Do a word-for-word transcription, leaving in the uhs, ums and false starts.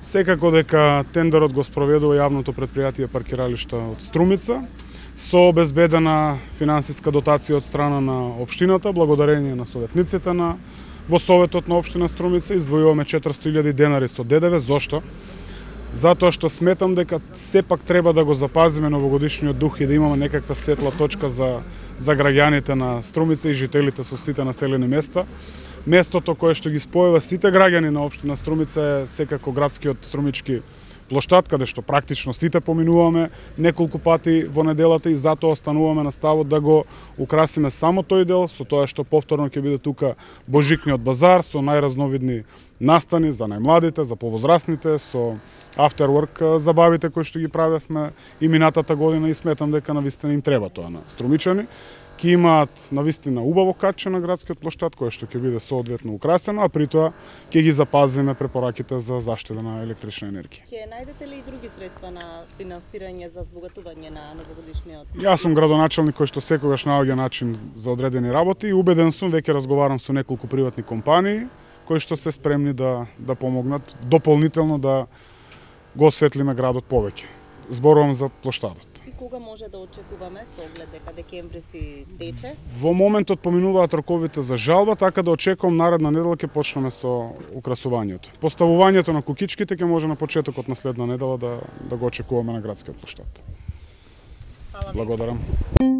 Секако дека тендерот го спроведува јавното претпријатие паркиралишта од Струмица со обезбедена финансиска дотација од страна на општината, благодарение на советниците на во Советот на општина Струмица издвојуваме четиристотини илјади денари со ДДВ. Зошто? Затоа што сметам дека сепак треба да го запазиме новогодишниот дух и да имаме некаква светла точка за за граѓаните на Струмица и жителите со сите населени места. Местото кое што ги спојува сите граѓани на општина Струмица е секако градскиот струмички плоштад, каде што практично сите поминуваме неколку пати во неделата и затоа остануваме на ставот да го украсиме само тој дел, со тоа што повторно ќе биде тука божикниот базар со најразновидни настани за најмладите, за повозрастните, со afterwork забавите кои што ги правевме и минатата година и сметам дека навистина им треба тоа на струмичани. Ки имаат навистина убаво катче на градскиот плоштад, кое што ќе биде соодветно украсено, а при тоа ќе ги запазиме препораките за заштита на електрична енергија. Ќе најдете ли и други средства на финансирање за збогатување на новогодишниот? Јас сум градоначелник кој што секогаш наоѓа начин за одредени работи и убеден сум, веќе разговарам со неколку приватни компании кои што се спремни да да помогнат дополнително да го осветлиме градот повеќе. Зборувам за плоштадот. И кога може да очекуваме со оглед дека декември си тече? Во моментот поминуваат роковите за жалба, така да очекувам наредна недела ќе почнеме со украсувањето. Поставувањето на кукичките ќе може на почетокот на следна недела да да го очекуваме на градскиот плоштад. Благодарам. Благодарам.